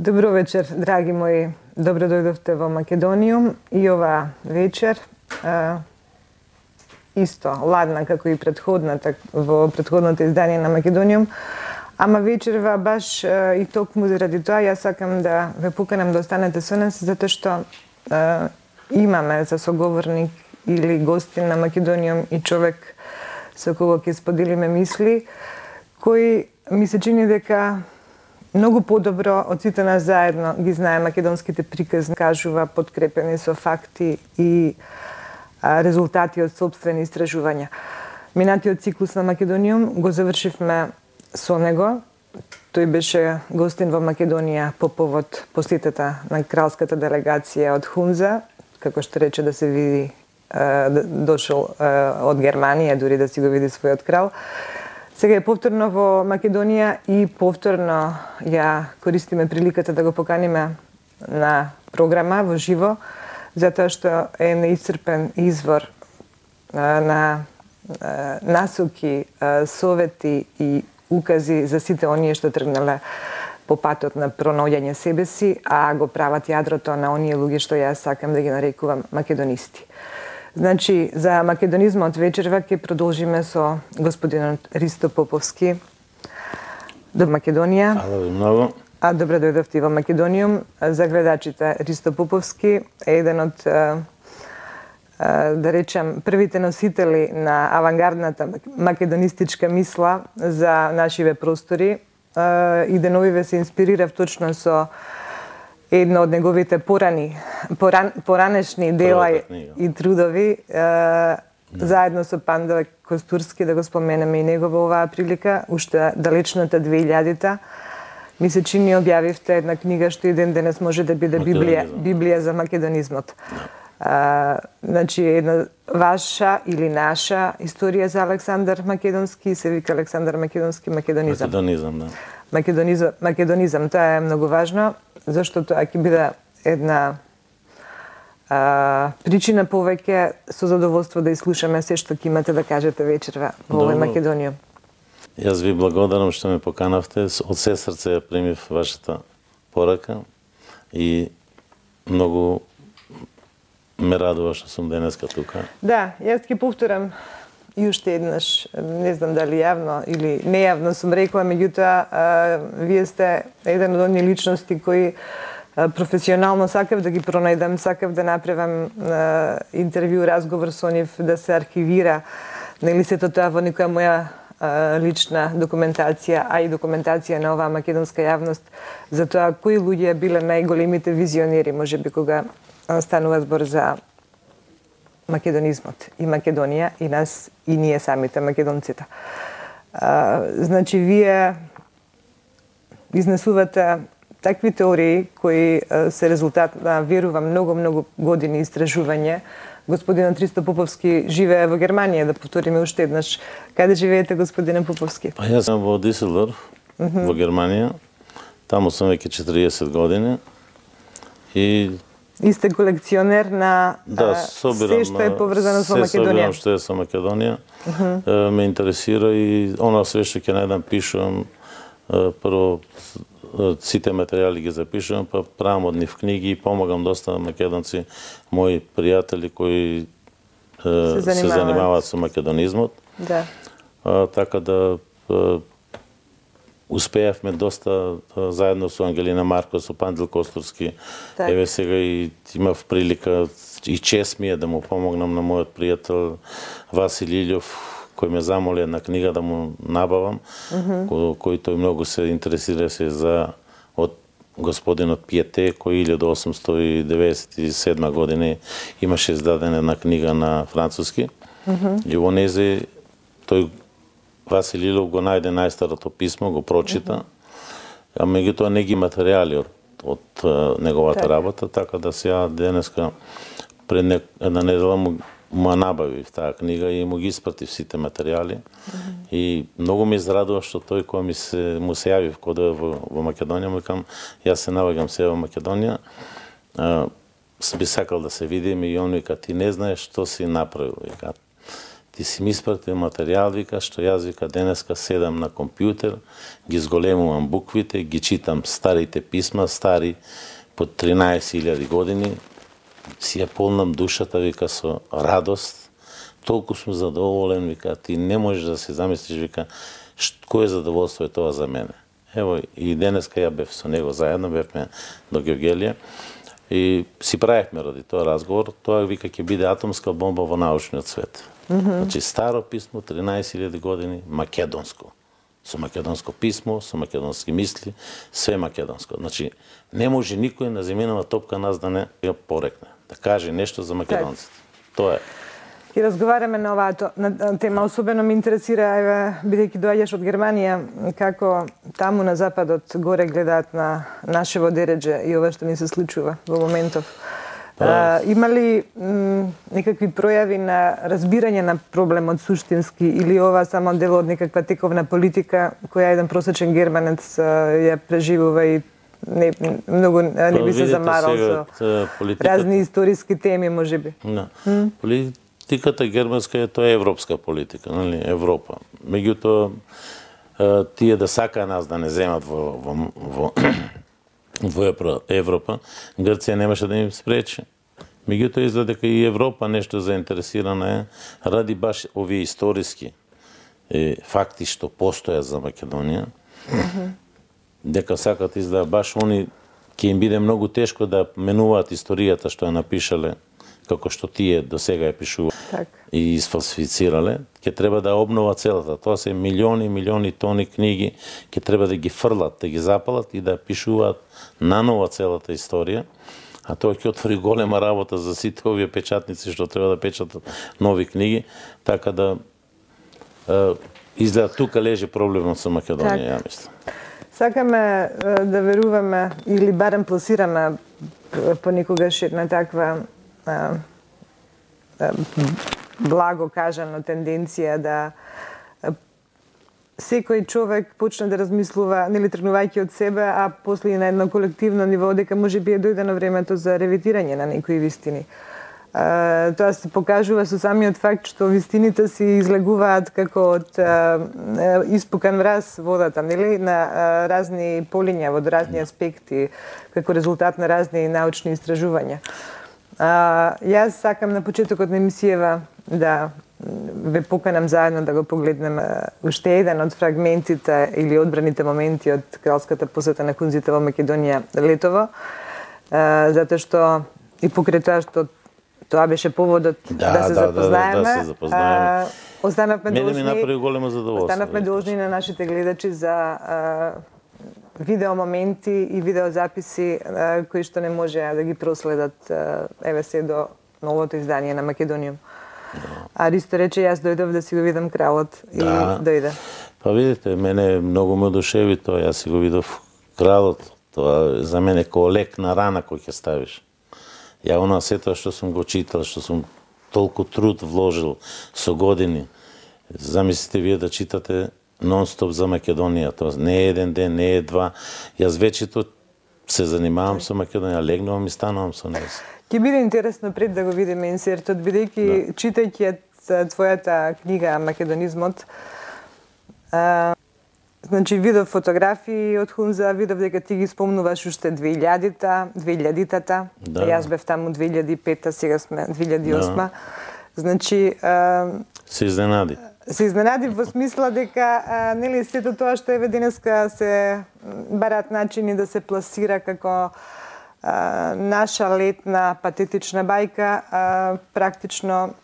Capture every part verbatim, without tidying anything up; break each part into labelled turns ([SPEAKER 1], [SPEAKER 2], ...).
[SPEAKER 1] Добро вечер, драги мои. Добро дојдовте во Македониум и ова вечер е, исто ладна како и претходната во претходното издание на Македониум, ама вечерва баш е, и токму заради тоа јас сакам да ве поканам да останете со нас затоа што е, имаме за соговорник или гостин на Македониум и човек со кого ќе споделиме мисли, кој ми се чини дека многу подобро од сите нас заедно ги знае македонските приказни, кажува подкрепени со факти и а, резултати од собствени истражувања. Минатиот циклус на Македониум го завршивме со него. Тој беше гостин во Македонија по повод посетата на кралската делегација од Хунза, како што рече да се види, а, дошол а, од Германија, дури да си го види својот крал. Сега е повторно во Македонија и повторно ја користиме приликата да го поканиме на програма во живо, затоа што е неисцрпен извор а, на а, насоки, а, совети и укази за сите оние што тргнале по патот на пронаоѓање себе си, а го прават јадрото на оние луѓе што јас сакам да ги нарекувам македонисти. Значи, за македонизмот вечерва ќе продолжиме со господинот Ристо Поповски до Македонија.
[SPEAKER 2] Ало ви многу.
[SPEAKER 1] А добро дојдовте во Македониум. За гледачите, Ристо Поповски е еден од, да речем, првите носители на авангардната македонистичка мисла за нашиве простори. И деновиве се инспирирав точно со едно од неговите порани, поран, поранешни дела и трудови, е, да. заедно со Пандове Костурски, да го споменеме и него во оваа прилика, уште далечната две илјадите. Ми се чини објавивте една книга што и ден денес може да биде Библија, Библија за македонизмот. Да. Е, значи, една ваша или наша историја за Александар Македонски, се вика Александар Македонски македонизам.
[SPEAKER 2] Македонизам, да.
[SPEAKER 1] Македонизам, македонизам, тоа е многу важно, зашто тоа ќе биде една а, причина повеќе со задоволство да изслушаме се што ќе имате да кажете вечерва во овој Македониум.
[SPEAKER 2] Јас ви благодарам што ме поканавте, од се срце ја примив вашата порака и многу ме радува што сум денеска тука.
[SPEAKER 1] Да, јас ќе повторам и уште еднаш, не знам дали јавно или нејавно сум рекла, меѓутоа вие сте еден од оние личности кои а, професионално сакав да ги пронајдам, сакав да направам а, интервју, разговор со нив, да се архивира, нели сето тоа во некоја моја а, лична документација, а и документација на оваа македонска јавност, за тоа кои луѓе биле најголемите визионери, можеби кога станува збор за македонизмот и Македонија и нас и ние самите македонците. А, значи вие изнесувате такви теории кои а, се резултат на верувам многу многу години истражување. Господинот Ристо Поповски живее во Германија, да повториме уште еднаш. Каде живеете, господине Поповски?
[SPEAKER 2] Па јас сум во Диселдорф, uh -huh. во Германија. Таму сум веќе четириесет години и
[SPEAKER 1] И сте колекционер на
[SPEAKER 2] да, собирам,
[SPEAKER 1] се што е поврзано со Македонија.
[SPEAKER 2] Се собирам што е со Македонија. Uh -huh. Ме интересира и она све што ќе најдам пишувам. Прво сите материјали ги запишувам, па правам од нив книги и помагам доста македонци, мои пријатели кои се занимаваат, се занимаваат со македонизмот. Да. А, така да успеавме доста заедно со Ангелина Марко, со Пандил Костурски. Так. Еве сега и имав прилика и чест ми е да му помогнам на мојот пријател Васил Илјов, кој ме замоли една книга да му набавам, uh -huh. кој, кој тој многу се интересира се за од господинот Пиете, кој илјада осумстотини и деветдесет и седма година имаше издадена една книга на француски. Uh -huh. И во незе тој Васил Илјов го најде најстарото писмо, го прочита, uh -huh. а меѓутоа не ги материјали од, од неговата так. работа, така да сега денеска пред не, една недела му, му набавив таа книга и му ги испратив сите материјали. Uh -huh. И многу ме израдува што тој кој ми се, му се јавив кога дојде во, во Македонија, му викам, јас се наоѓам се во Македонија, а, би сакал да се видиме и он вика, ти не знаеш што си направил, вика. ти си ми испратил материјал, вика, што јас, вика, денеска седам на компјутер, ги зголемувам буквите, ги читам старите писма, стари по тринаесет илјади години, си ја полнам душата, вика, со радост, толку сум задоволен, вика, ти не можеш да се замислиш, вика, кој задоволство е тоа за мене. Ево, и денеска ја бев со него заедно, бевме до Георгелија, и си правевме ради тоа разговор, тоа, вика, ќе биде атомска бомба во научниот свет. Mm -hmm. Значи, старо писмо, тринаесет илјади години, македонско. Со македонско писмо, со македонски мисли, све македонско. Значи, не може никој на земјинава топка нас да не ја порекне, да каже нешто за македонците. Тоа е.
[SPEAKER 1] И разговараме на оваа на тема. Особено ме интересира, еве, бидејќи доаѓаш од Германија, како таму на западот горе гледаат на нашево дередже и ова што ни се случува во моментов. А, има ли некакви пројави на разбирање на проблемот суштински, или ова само дел од некаква тековна политика која еден просечен германец ја преживува и не, многу не би се замарал со разни историски теми, можеби?
[SPEAKER 2] Да. Mm? Политиката германска е тоа европска политика, нели, Европа. Меѓутоа, тие да сака нас да не земат во, во, во во Европа, Грција немаше да им спречи. Меѓутоа изгледа дека и Европа нешто заинтересирана е ради баш овие историски е, факти што постојат за Македонија. Mm -hmm. Дека сакат изгледа баш они ќе им биде многу тешко да менуваат историјата што ја напишале, како што тие до сега ја пишуваат так. И изфалсифицирале, ќе треба да обнова целата. Тоа се милиони, милиони тони книги, ќе треба да ги фрлат, да ги запалат и да пишуваат нанова целата историја. А тоа ќе отвори голема работа за сите овие печатници што треба да печатат нови книги, така да е, изгледа тука лежи проблемот со Македонија, ја мислам.
[SPEAKER 1] Сакаме да веруваме или барем пласираме понекогаш една таква а, а, благо кажано тенденција да секој човек почне да размислува, нели тргнувајќи од себе, а после и на едно колективно ниво, дека може би е дојдено времето за ревитирање на некои вистини. Uh, тоа се покажува со самиот факт што вистините си излегуваат како од uh, испукан враз водата, нели, на uh, разни полиња, во разни аспекти, како резултат на разни научни истражувања. Uh, јас сакам на почетокот на емисијава да ве поканам заедно да го погледнеме уште еден од фрагментите или одбраните моменти од кралската посета на Кунзите во Македонија летово, uh, затоа што и покрај тоа што тоа беше поводот да, да се да, запознаеме.
[SPEAKER 2] Да, да, да се запознаеме.
[SPEAKER 1] Останавме
[SPEAKER 2] Мене
[SPEAKER 1] должни.
[SPEAKER 2] ми направи големо задоволство.
[SPEAKER 1] Останавме должни на нашите гледачи за а, видео моменти и видео записи а, кои што не можеа да ги проследат а, еве се до новото издание на Македониум. Да. А Ристо рече јас дојдов да си го видам кралот и да. Дојде.
[SPEAKER 2] Па видите, мене многу ме одушеви тоа, јас си го видов кралот. Тоа за мене како лек на рана кој ќе ставиш. Ја она сето што сум го читал, што сум толку труд вложил со години. Замислите вие да читате нон-стоп за Македонија. Тоа не е еден ден, не е два. Јас вечето се занимавам со Македонија, легнувам и станувам со неа.
[SPEAKER 1] Ќе биде интересно пред да го видиме инсертот, бидејќи да. Читајќи твојата книга Македонизмот, а, значи видов фотографии од Хунза, видов дека ти ги спомнуваш уште две илјадите, две илјадитата. Да. Јас бев таму две илјади и пета, сега сме две илјади и осма. Да. Значи а, се
[SPEAKER 2] изненади.
[SPEAKER 1] Се изненади во смисла дека а, нели сето тоа што еве денеска се барат начини да се пласира како а, наша летна патетична бајка, а, практично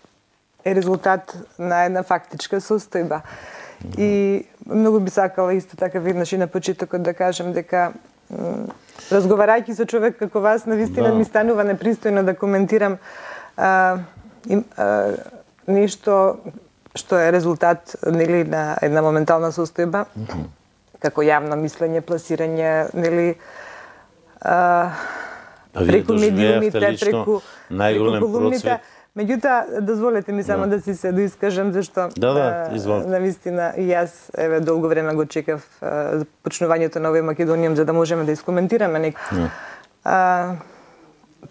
[SPEAKER 1] е резултат на една фактичка состојба. И многу би сакала исто така веднаш и на почетокот да кажем дека разговарајќи со човек како вас, навистина да. Ми станува непристојно да коментирам а, им, а, нешто што е резултат нели на една моментална состојба, mm -hmm. како јавно мислење, пласирање, нели а, преку медиумите, преку
[SPEAKER 2] најголем процвет.
[SPEAKER 1] Меѓутоа, дозволете ми само да, да си се доискажам, зашто
[SPEAKER 2] да, да,
[SPEAKER 1] навистина и јас еве долго време го чекав почнувањето на овој Македониум за да можеме да искоментираме некој. А,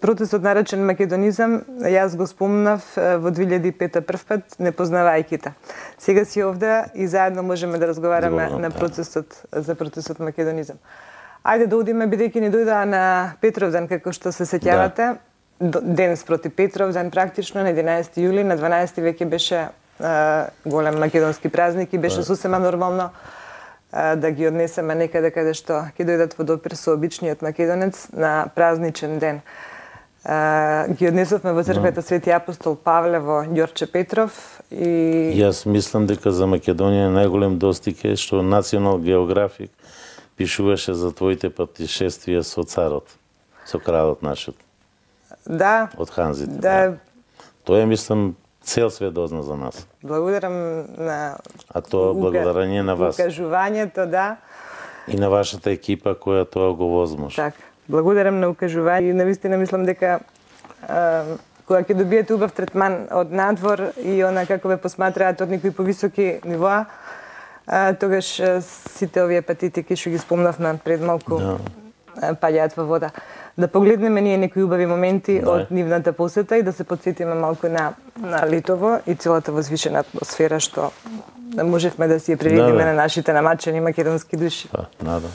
[SPEAKER 1] процесот наречен македонизам, јас го спомнав во две илјади и пета прв пат, не познавајќи та. Сега си овде и заедно можеме да разговараме Добро, на процесот, за процесот македонизам. Ајде да одиме, бидејќи ни дојдоа на Петровден, како што се сеќавате, да. Денес проти Петровден практично, на единаесети јули, на дванаесети веќе беше а, голем македонски празник и беше сосема нормално а, да ги однесеме некаде каде што ќе дојдат во допир со обичниот македонец на празничен ден. Uh, ги однесовме во црквата Свети апостол Павле во Ѓорче Петров и
[SPEAKER 2] Јас мислам дека за Македонија најголем достиг е што Национал географик пишуваше за твоите патишествија со царот, со кралот нашиот.
[SPEAKER 1] Да.
[SPEAKER 2] Од ханзите.
[SPEAKER 1] Да.
[SPEAKER 2] Тоа е, мислам, цел свет дозна за нас.
[SPEAKER 1] Благодарам на
[SPEAKER 2] А тоа благодарение на вас.
[SPEAKER 1] Укажувањето, да.
[SPEAKER 2] И на вашата екипа која тоа го возможи.
[SPEAKER 1] Така. Благодарам на укажување и навистина мислам дека а, кога ќе добиете убав третман од надвор и она како ве посматраат од некои повисоки нивоа, а, тогаш а, сите овие патетики што ги спомнавме пред малку
[SPEAKER 2] да.
[SPEAKER 1] паѓаат во вода. Да погледнеме ние некои убави моменти да. од нивната посета и да се потсетиме малку на, на Литово и целата возвишена атмосфера што можевме да си ја приредиме да, на нашите намачени македонски души.
[SPEAKER 2] Па, надам.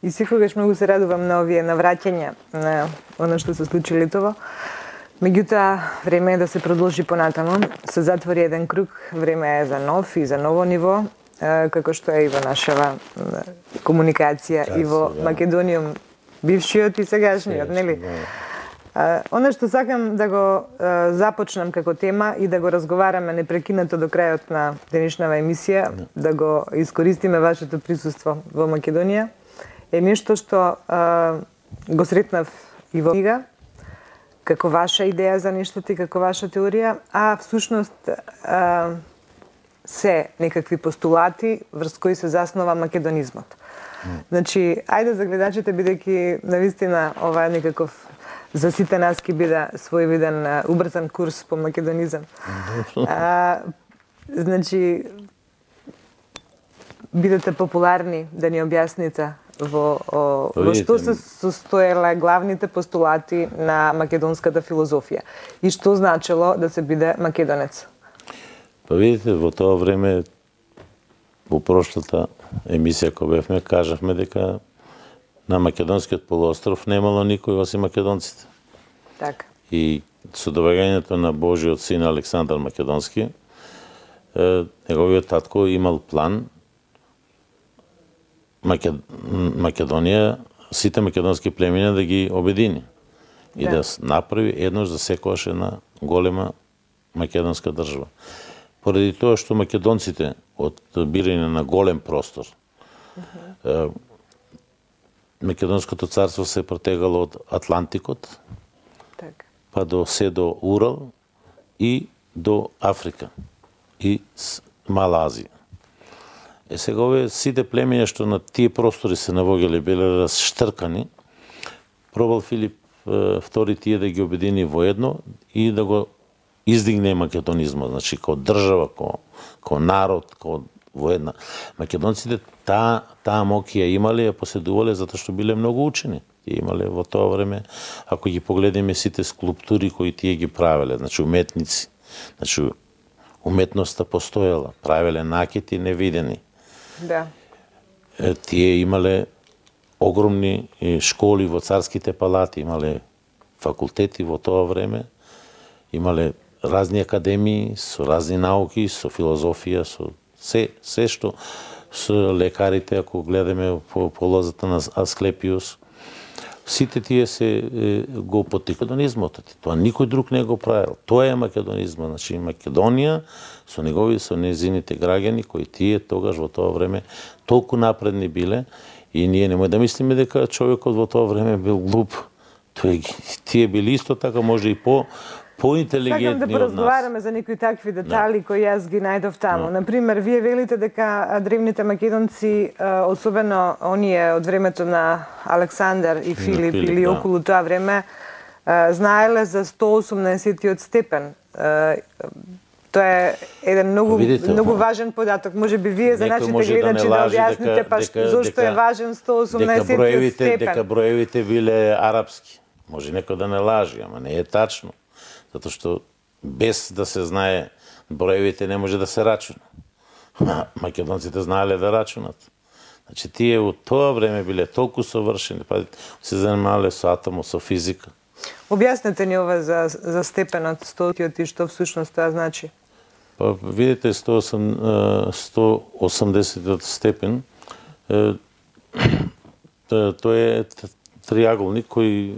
[SPEAKER 1] И секогаш многу се радувам на овие навраќања на оно што се случи летово. Меѓутоа, време е да се продолжи понатаму. Се затвори еден круг, време е за нов и за ново ниво, како што е и во нашава комуникација и во Македониум, бившиот и сегашниот, нели? Оно што сакам да го започнам како тема и да го разговараме непрекинато до крајот на денешнава емисија, да го искористиме вашето присуство во Македонија, е нешто што го сретнав и во книга, како ваша идеја за нештото и како ваша теорија, а всушност се некакви постулати врз кои се заснова македонизмот. Значи, ајде за гледачите, бидејќи навистина ова е некаков за сите нас ќе биде своевиден убрзан курс по македонизам. А, значи, бидете популарни да ни објасните во, о, во што се состоеле главните постулати на македонската филозофија и што значело да се биде македонец.
[SPEAKER 2] Па видите, во тоа време, во прошлата емисија која бевме, кажавме дека на македонскиот полуостров немало никој осим македонците.
[SPEAKER 1] Така.
[SPEAKER 2] И со доаѓањето на Божиот син Александар Македонски, неговиот татко имал план Македонија, сите македонски племиња да ги обедини и да, да направи еднош за секојаш една голема македонска држава. Поради тоа што македонците од бирање на голем простор, uh-huh. Македонското царство се протегало од Атлантикот, так. Па до се до Урал и до Африка и Мала Азија. Е сега овие сите племиња што на тие простори се навоѓале биле расштркани, пробал Филип втори тие да ги обедини во едно и да го издигне македонизмот, значи како држава, како, како народ, како во една. Македонците таа таа моќ ја имале, ја поседувале затоа што биле многу учени. Тие имале во тоа време, ако ги погледнеме сите скулптури кои тие ги правеле, значи уметници, значи уметноста постоела, правеле накити невидени.
[SPEAKER 1] Да.
[SPEAKER 2] Е, тие имале огромни школи во царските палати, имале факултети во тоа време, имале разни академии со разни науки, со филозофија, со се, се што со лекарите, ако гледаме по полозата на Асклепиус, сите тие се е, го потиква македонизмот. Тоа никој друг не го правил. Тоа е македонизмот. Значи Македонија со негови, со незините граѓани кои тие тогаш во тоа време толку напредни биле и ние немој да мислиме дека човекот во тоа време бил глуп. Тој тие били исто така може и по поинтелигентни од нас.
[SPEAKER 1] Сакам да поразговараме за некои такви детали кои јас ги најдов таму. No. Например, вие велите дека древните македонци, особено оние од времето на Александар и Филип, Филип или да. Околу тоа време, знаеле за сто осумнаесеттиот степен. Тоа е еден многу Видите, многу важен податок. Може би вие за нашите гледачи да, да објасните па зошто е важен сто осумнаесеттиот степен.
[SPEAKER 2] Дека броевите биле арапски. Може некој да не лажи, ама не е тачно. Затоа што без да се знае броевите не може да се рачуна. Македонците знаеле да рачунат. Значи тие во тоа време биле толку совршени, па се занимавале со атомот, со физика.
[SPEAKER 1] Објаснете ни ова за, за степенот стотиот и што всушност тоа значи.
[SPEAKER 2] Па видите сто осумдесеттиот степен, тоа е триаголник кој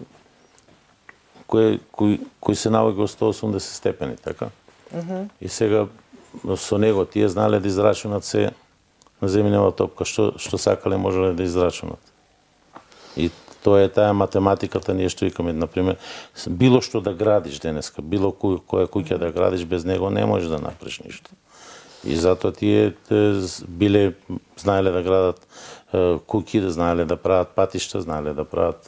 [SPEAKER 2] кој кој кој се наоѓа во сто осумдесет степени, така? Uh-huh. И сега со него тие знаеле да израчунат се на земјинава топка што што сакале можеле да израчунат. И тоа е таа математиката, ние што викаме, например, било што да градиш денеска, било кој, која куќа да градиш, без него не можеш да направиш ништо. И затоа тие биле знаеле да градат куќи, да знаеле да прават патишта, знаеле да прават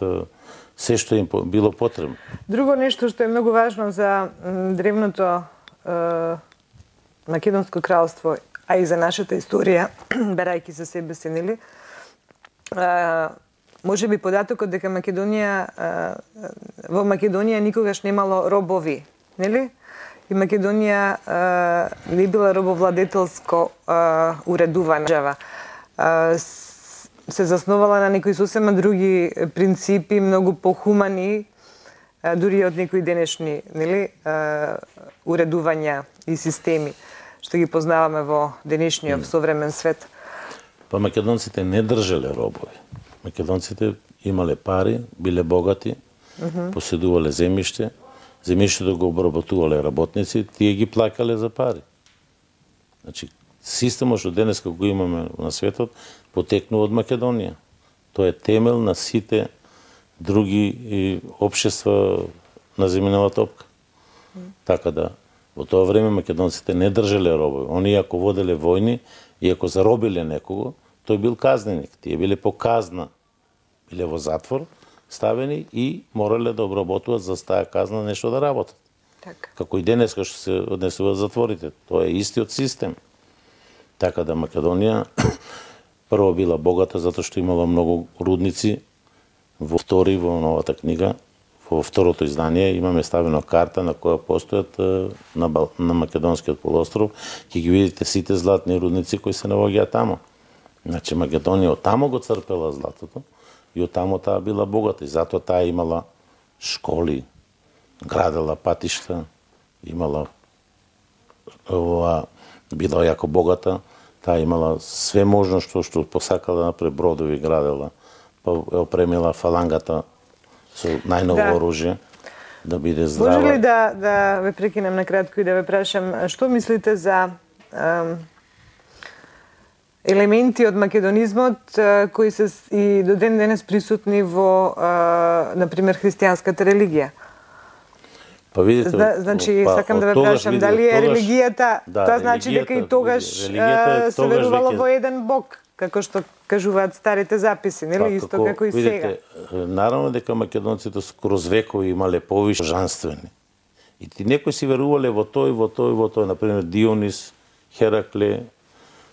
[SPEAKER 2] се што им било потребно.
[SPEAKER 1] Друго нешто што е многу важно за древното е, Македонско кралство, а и за нашата историја, барајќи за себе се, нели? Може би податокот дека Македонија, во Македонија никогаш немало робови, нели? И Македонија не била робовладетелско уредувана држава. се засновала на некои сосема други принципи, многу похумани, дури од некои денешни, нели, уредувања и системи што ги познаваме во денешниот современ свет.
[SPEAKER 2] Па македонците не држале робови. Македонците имале пари, биле богати, mm -hmm. поседувале земјиште, земјиштето го обработувале работници, тие ги плакале за пари. Значи, системот што денеска го имаме на светот потекнува од Македонија. Тоа е темел на сите други општества на земјинова топка. Mm. Така да, во тоа време македонците не држале робови. Они ако воделе војни и ако заробиле некого, тој бил казненик. Тие биле по казна. Биле во затвор, ставени и морале да обработуваат за таа казна нешто да работат.
[SPEAKER 1] Так.
[SPEAKER 2] Како и денеска што се однесуваат затворите. Тоа е истиот систем. Така да Македонија прво била богата затоа што имала многу рудници. Во втори, во новата книга, во второто издание имаме ставено карта на која постојат на, Бал... на Македонскиот полуостров. Ќе ги видите сите златни рудници кои се наоѓаат тамо. Значи Македонија од тамо го црпела златото и од тамо таа била богата и затоа таа имала школи, градела патишта, имала ова била јако богата, таа имала све можно што што посакала да направи, бродови градела, па опремила фалангата со најново да. оружје да биде здрава.
[SPEAKER 1] Може ли да да ве прекинем на кратко и да ве прашам што мислите за ем, елементи од македонизмот кои се и до ден денес присутни во на пример христијанската религија?
[SPEAKER 2] Па видите,
[SPEAKER 1] Зна, значи па, сакам да ве прашам дали е религијата, да, тоа значи дека и тогаш се верувало во еден бог, како што кажуваат старите записи, нели, па, исто како, како и
[SPEAKER 2] видите,
[SPEAKER 1] сега.
[SPEAKER 2] Наравно дека македонците скроз векови имале повише жанствени. И ти некои си верувале во тој, во тој, во тој, например Дионис, Херакле,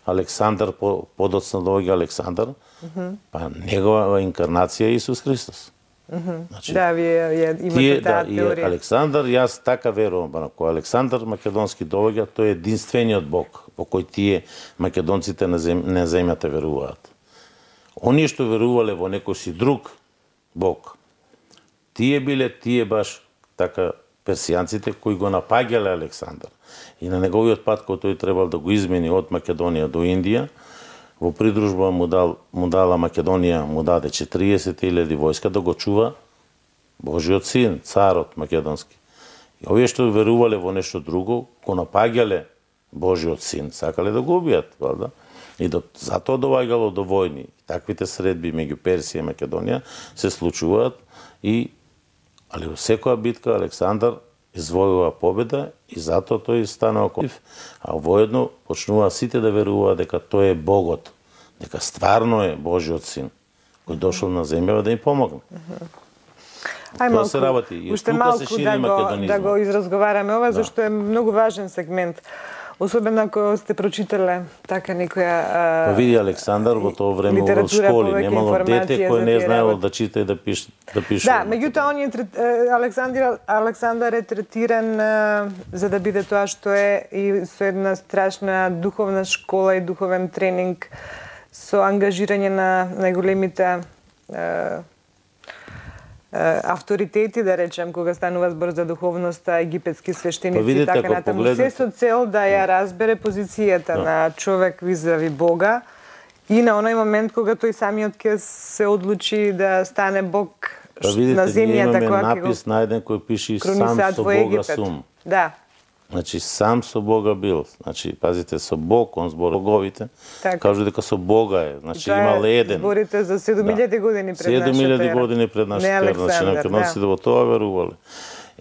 [SPEAKER 2] Александар, подоцна доаѓа Александар, mm -hmm. па негова инкарнација е Исус Христос.
[SPEAKER 1] Mm -hmm. Значи, да, вие имате таа
[SPEAKER 2] да,
[SPEAKER 1] теорија.
[SPEAKER 2] Александар, јас така верувам, па кога Александар македонски доаѓа, тој е единствениот Бог во кој тие македонците на, зем, на земјата веруваат. Оние што верувале во некој си друг Бог, тие биле тие баш така персијанците кои го напаѓале Александар. И на неговиот пат кој тој требал да го измени од Македонија до Индија, во придружба му, дал, му дала Македонија, му даде четириесет илјади војска да го чува Божиот син, царот македонски. И овие што верувале во нешто друго, го напаѓале Божиот син, сакале да го убијат, валда? И до, затоа доваѓало до војни. И таквите средби меѓу Персија и Македонија се случуваат и али во секоја битка Александар извојува победа и затоа тој станува конф, а воедно почнува сите да веруваат дека тој е Богот, дека стварно е Божиот син, кој дошол на земја да им помогне.
[SPEAKER 1] Ај малку, се работи. И уште малку да го, да го изразговараме ова, да. Зашто е многу важен сегмент. Особено ако сте прочитале така некоја
[SPEAKER 2] Па види Александар во тоа време во школи, немало дете кој не знаело да чита и да пише, да пише.
[SPEAKER 1] Да, меѓутоа он е Александар Александар е третиран за да биде тоа што е и со една страшна духовна школа и духовен тренинг со ангажирање на најголемите авторитети, да речем, кога станува збор за духовноста, египетски свештеници и
[SPEAKER 2] видите,
[SPEAKER 1] така натаму. Се со цел да ја разбере позицијата да. на човек визави Бога и на оној момент кога тој самиот ќе се одлучи да стане Бог
[SPEAKER 2] па видите,
[SPEAKER 1] на земјата
[SPEAKER 2] која ќе напис најден кој пише сам со Бога сум.
[SPEAKER 1] Да.
[SPEAKER 2] Значи сам со Бога бил. Значи пазите со Бог, он збор боговите. Кажу дека со Бога е. Значи имал еден.
[SPEAKER 1] Зборите за седум илјади години пред нашата ера.
[SPEAKER 2] седум илјади години пред нашата ера. Значи македонците во тоа верувале.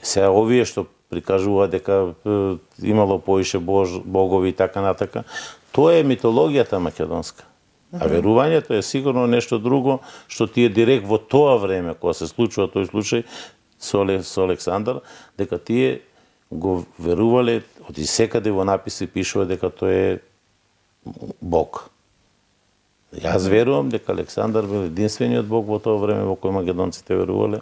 [SPEAKER 2] Сега овие што прикажуваат дека имало поише бож, богови и така натака, тоа е митологијата македонска. А верувањето е сигурно нешто друго што тие директ во тоа време кога се случува тој случај со, со Александар, дека тие го верувале, од и секаде во написи пишува дека тој е Бог. Јас верувам дека Александар бил единствениот Бог во тоа време во кој македонците верувале,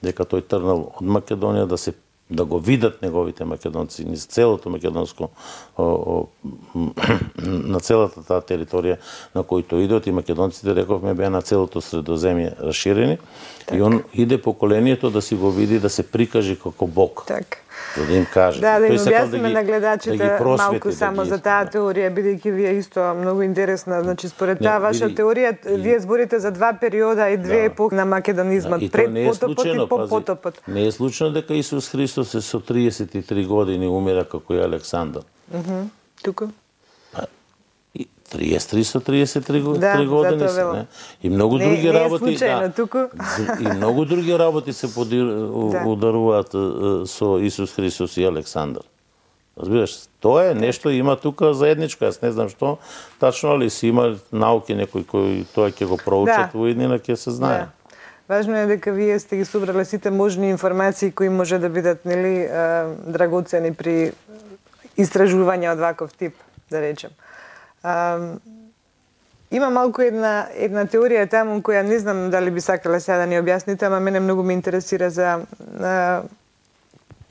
[SPEAKER 2] дека тој тргнал од Македонија да се да го видат неговите македонци низ целото македонско о, о, на целата таа територија на којто идат и македонците, рековме, беа на целото Средоземје расширени. Так. И он иде поколението да си го види, да се прикаже како Бог.
[SPEAKER 1] Так.
[SPEAKER 2] За да им каже.
[SPEAKER 1] Да, да им објасниме
[SPEAKER 2] да
[SPEAKER 1] на гледачите
[SPEAKER 2] да
[SPEAKER 1] малку само
[SPEAKER 2] да
[SPEAKER 1] за таа теорија, бидејќи вие исто многу интересна. Значи, според таа ваша
[SPEAKER 2] биди...
[SPEAKER 1] теорија, вие зборите за два периода и две
[SPEAKER 2] да.
[SPEAKER 1] епохи на македонизмот, да, пред потопот и по потопот.
[SPEAKER 2] Не е случајно дека Исус Христос е со триесет и три години умира како и Александар.
[SPEAKER 1] Мхм. Тука?
[SPEAKER 2] триесет три со триесет и три
[SPEAKER 1] да,
[SPEAKER 2] години се, не? И многу
[SPEAKER 1] не,
[SPEAKER 2] други
[SPEAKER 1] не
[SPEAKER 2] работи,
[SPEAKER 1] случайно,
[SPEAKER 2] да.
[SPEAKER 1] Туку.
[SPEAKER 2] И многу други работи се подир, да. ударуваат со Исус Христос и Александар. Разбираш, тоа е нешто има тука заедничко, јас не знам што тачно, али си има науки некои кои тоа ќе го проучат да. Во иднина, ќе се знае.
[SPEAKER 1] Да. Важно е дека вие сте ги собрале сите можни информации кои може да бидат, нели, драгоцени при истражување од ваков тип, да речем. А, има малку една една теорија таму која не знам дали би сакала сега да ни објасните, ама мене многу ме интересира за а,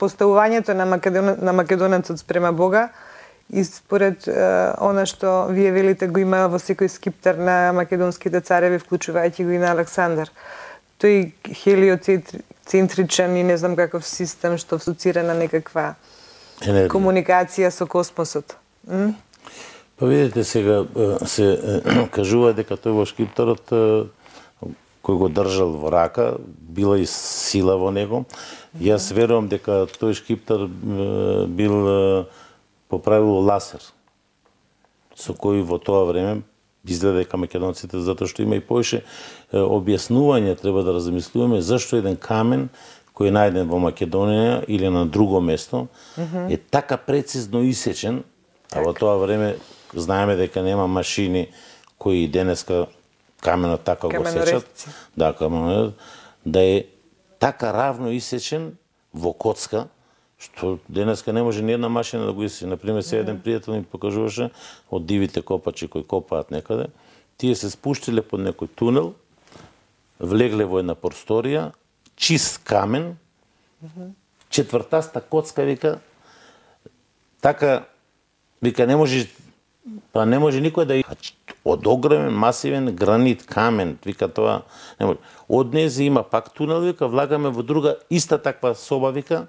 [SPEAKER 1] поставувањето на Македон, на македонецот спрема Бога и според а, она што вие велите го има во секој скиптар на македонските цареви, вклучувајќи го и на Александар. Тој хелиоцентричен и не знам каков систем што асоцира на некаква енергија, комуникација со космосот. М?
[SPEAKER 2] Па видите, сега се кажува дека тој во шкипторот кој го држал во рака, била и сила во него. Јас верувам дека тој шкиптор бил поправил ласер, со кој во тоа време изгледа дека македонците, затоа што има и повеќе објаснување, треба да размислуваме зашто еден камен кој е најден во Македонија или на друго место е така прецизно исечен, а во тоа време знаеме дека нема машини кои денеска каменот така го сечат, да, каменот, да е така равно исечен во коцка, што денеска не може ни една машина да го исече. Например, се еден пријател ми покажуваше од дивите копачи кои копаат некаде, тие се спуштиле под некој тунел, влегле во една просторија, чист камен, четвртаста коцка, вика, така, вика, не може, па не може никој да од огромен, масивен гранит, камен, вика тоа, не може. Од незе има пак тунел, вика, влагаме во друга, иста таква соба, вика,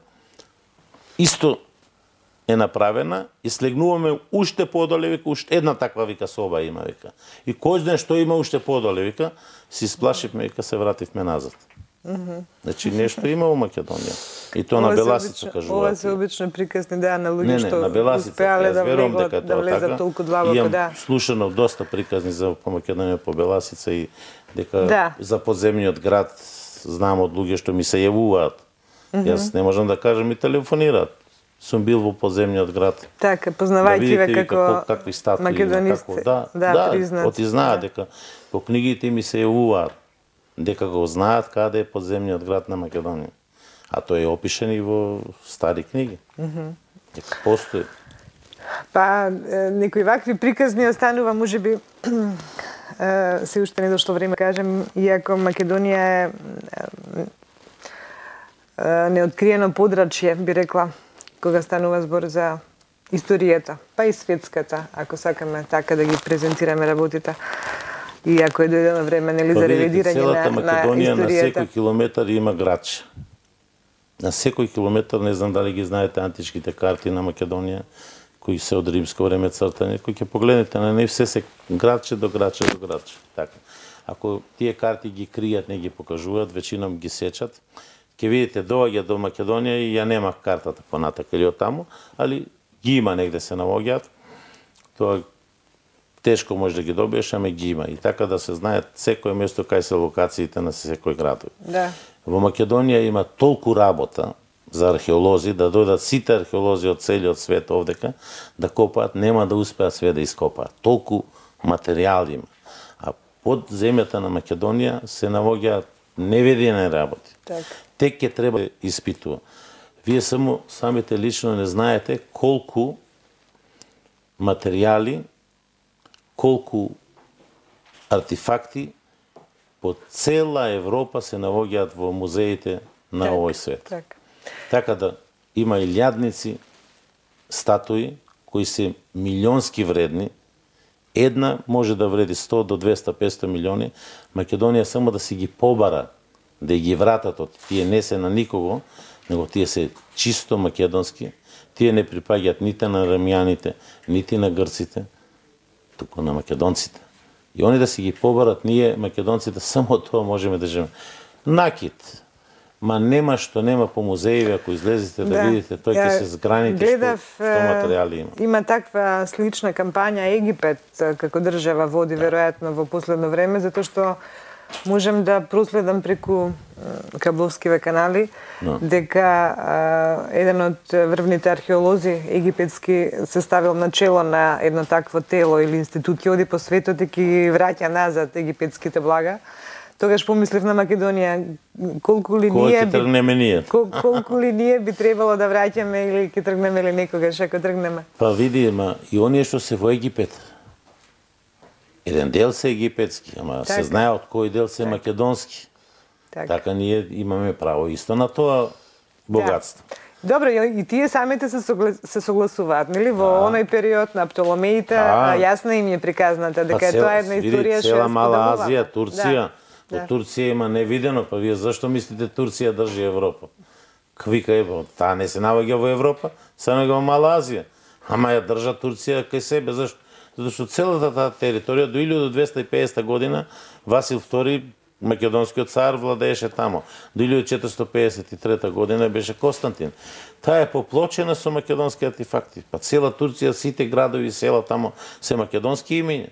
[SPEAKER 2] исто е направена и слегнуваме уште подоле, вика, уште една таква, вика, соба има, вика. И кој знае што има уште подоле, вика, си сплашивме, вика, се вративме назад. Mm-hmm. Значи нешто има во Македонија. И тоа на Беласица кажуваат.
[SPEAKER 1] Ова се обично приказни да на луѓе
[SPEAKER 2] не, не,
[SPEAKER 1] што
[SPEAKER 2] на Беласица,
[SPEAKER 1] успеале да
[SPEAKER 2] верувам
[SPEAKER 1] влегат,
[SPEAKER 2] дека
[SPEAKER 1] да
[SPEAKER 2] тоа
[SPEAKER 1] влезат
[SPEAKER 2] така.
[SPEAKER 1] толку длабоко,
[SPEAKER 2] имам
[SPEAKER 1] да.
[SPEAKER 2] слушано доста приказни за по Македонија по Беласица и дека
[SPEAKER 1] да.
[SPEAKER 2] За подземниот град знам од луѓе што ми се јавуваат. Mm-hmm. Јас не можам да кажам и телефонираат. Сум бил во подземниот град.
[SPEAKER 1] Така, познавајќи ве како
[SPEAKER 2] какви статуи
[SPEAKER 1] македонисти.
[SPEAKER 2] Како, да,
[SPEAKER 1] да,
[SPEAKER 2] да,
[SPEAKER 1] признат.
[SPEAKER 2] оти знаат
[SPEAKER 1] да.
[SPEAKER 2] дека по книгите ми се јавуваат, дека го знаат каде е подземниот град на Македонија. А тој е опишен и во стари книги. Mm-hmm. Дека постои.
[SPEAKER 1] Па, некои вакви приказни останува, можеби, се уште не дошло време, кажем, иако Македонија е неоткриено подрачје, би рекла, кога станува збор за историјата, па и светската, ако сакаме така да ги презентираме работите. И ако е дојдено време, нели, за ревидирање на, на
[SPEAKER 2] Македонија
[SPEAKER 1] историјата.
[SPEAKER 2] На секој километар има градче. На секој километар, не знам дали ги знаете античките карти на Македонија, кои се од римско време цртани, кои ќе погледнете на нив, се се градче до градче до градче. Така. Ако тие карти ги кријат, не ги покажуваат, веćinom ги сечат, ќе видите доаѓа до Македонија и ја немах картата понатака или од таму, али ги има негде се наоѓаат. Тоа тешко може да ги добиеш, ама ги има. И така да се знае секој место кај се локациите на секој градови.
[SPEAKER 1] Да.
[SPEAKER 2] Во Македонија има толку работа за археолози, да дојдат сите археолози од целиот свет овдека, да копаат, нема да успеат све да ископаат. Толку материјал има. А под земјата на Македонија се наоѓаат невидени работи.
[SPEAKER 1] Так.
[SPEAKER 2] Тек ќе треба да испитува. Вие само самите лично не знаете колку материјали, колку артефакти по цела Европа се наоѓаат во музеите на
[SPEAKER 1] так,
[SPEAKER 2] овој свет.
[SPEAKER 1] Так.
[SPEAKER 2] Така да има илјадници статуи кои се милионски вредни. Една може да вреди сто до двесте петстотини милиони. Македонија само да си ги побара, да ги вратат од тие не се на никого, него тие се чисто македонски. Тие не припаѓаат нити на римјаните, нити на грците, туку на македонците. И они да си ги побарат, ние македонците само тоа можеме да живееме. Накид. Ма нема што нема по музеи, ако излезете да, да видите, тој ќе се зграните
[SPEAKER 1] гледав,
[SPEAKER 2] што, што материјали има.
[SPEAKER 1] Има таква слична кампања Египет како држава води веројатно во последно време, затоа што можем да проследам преку кабловскиве канали no. дека а, еден од врвните археолози египетски се ставил на чело на едно такво тело или институција, оди по светот и ги враќа назад египетските блага. Тогаш помислив на Македонија, колку ли ние би
[SPEAKER 2] тргнеме ние.
[SPEAKER 1] Кол, колку ли ние би требало да враќаме или ќе тргнеме ли некогаш ако тргнеме.
[SPEAKER 2] Па види, ма и оние што се во Египет. Еден дел се египетски, ама така. Се знае од кој дел се така. Македонски. Така. Така ние имаме право исто на тоа богатство.
[SPEAKER 1] Да. Добро, и тие самите се, согла... се согласуваат, нели? Во а. оној период на Птоломеите, а. јасна им е приказната, дека па, тоа е една историја што
[SPEAKER 2] цела Мала Азија, Турција.
[SPEAKER 1] Да.
[SPEAKER 2] Да. Турција има невидено, па вие зашто мислите Турција држи Европа? Квика е, таа не се наоѓа во Европа, се наоѓа во Мала Азија. Ама ја држа Турција кај себе, зашто? Затоа што целата таа територија до илјада двесте и педесета година Васил втори, македонскиот цар, владееше тамо. До илјада четиристотини педесет и трета година беше Константин. Таа е поплочена со македонски артефакти. Па цела Турција, сите градови и села тамо се македонски имиња.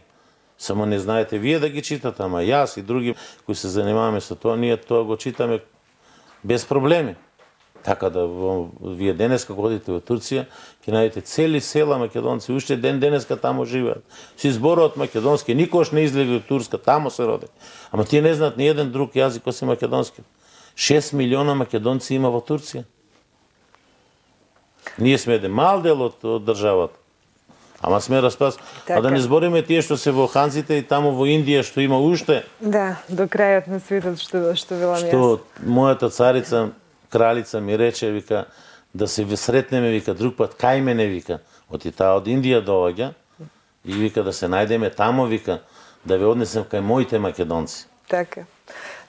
[SPEAKER 2] Само не знаете вие да ги читате, ама јас и други кои се занимаваме со тоа, ние тоа го читаме без проблеми. Така да вие денеска одите во Турција, ќе најдете цели села македонци, уште ден денеска тамо живеат. Си зборуваат македонски, никош не излегли од Турска, тамо се родени. Ама тие не знаат ни еден друг јазик осим македонски. шест милиона македонци има во Турција. Ние сме еден мал дел од, од државата. Ама сме распас. Така. А да не збориме тие што се во Ханзите и тамо во Индија што има уште.
[SPEAKER 1] Да, до крајот на светот што што велам јас.
[SPEAKER 2] Што мојата царица, кралица ми рече, вика, да се сретнеме, вика, друг пат кај мене, вика, од и таа од Индија доаѓа и вика да се најдеме тамо, вика, да ве однесем кај моите македонци.
[SPEAKER 1] Така.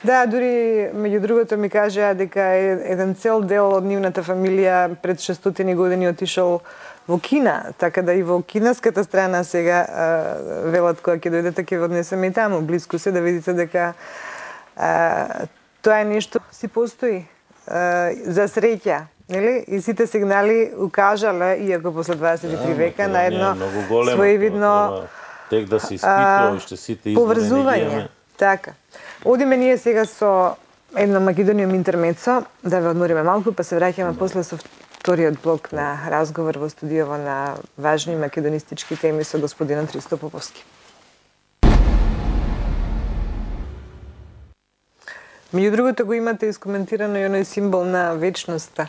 [SPEAKER 1] Да, дури меѓу другото ми кажа дека еден цел дел од нивната фамилија пред шестстотини години отишол во Кина, така да и во кинеската страна сега а, велат кога ќе дојдете ќе ве однесеме и таму, близко се да видите дека а, тоа е нешто си постои а, за среќа, нели? И сите сигнали укажале, иако после дваесет и три века, на едно своевидно
[SPEAKER 2] тек да се испитува уште сите
[SPEAKER 1] поврзување. Така. Одиме ние сега со едно Македониум интермецо, да ве одмориме малку, па се враќаме после со вториот блок на разговор во студиово на важни македонистички теми со господинот Христо Поповски. Меѓу другото го имате искоментирано и оној символ на вечноста,